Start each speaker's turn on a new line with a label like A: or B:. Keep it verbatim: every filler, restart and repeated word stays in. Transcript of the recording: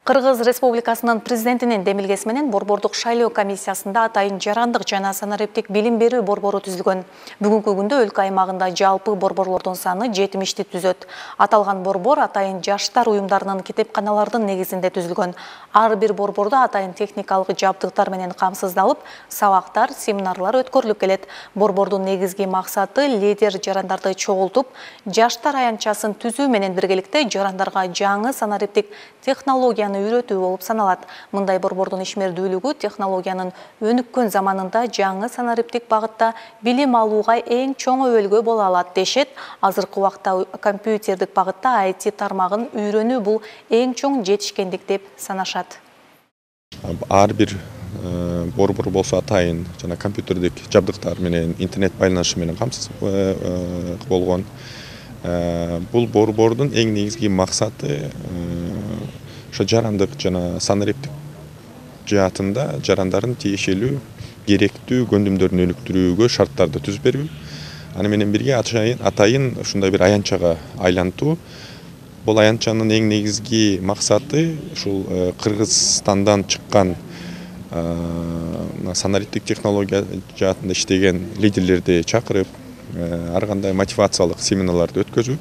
A: Кыргыз Республикасынын президентинин демилгеси менен Борбордук шайлоо комиссиясында атайын жарандык жана санариптик билим берүү борбору түзүлгөн. Бүгүнкү күндө өлкө аймагында жалпы борборлордун саны жетимишти түзөт. Аталган борбор атайын жаштар уюмдарынын китепканалардын негизинде түзүлгөн. Ар бир борбордо атайын техникалык жабдыктар менен камсыздалып, сабактар, семинарлар өткөрүлүп келет. Борбордун негизги максаты лидер жарандарды чогултуп, жаштар аянтчасын түзүү менен биргеликте жарандарга жаңы санариптик технологияны үйрөтүү болуп саналат. Мындай борбордун ишмердүүлүгү технологиянын өнүккөн заманында жаңы санариптик багытта билим алууга эң чоң өбөлгө боло алат дешет. Азыркы убакта компьютердик багытта ай ти тармагын үйрөнүү бул эң чоң жетишкендик деп санашат.
B: Ар бир борбор болсо атайын жана компьютердик жабдыктар менен интернет байланышы менен камсыз болгон. Бул борбордун эң негизги максаты ошо жарандык жана санариптик жаатында жарандардын тиешелүү керектүү көндүмдөрүн өнүктүрүүгө шарттарды түзүп берүү. Аны менен бирге атайын ушундай бир аянтчага айлантуу. Бул аянтчанын эң негизги максаты ушул Кыргызстандан чыккан санариптик технология жаатында иштеген лидерлерди чакырып, ар кандай мотивациялык семинарларды өткөзүү.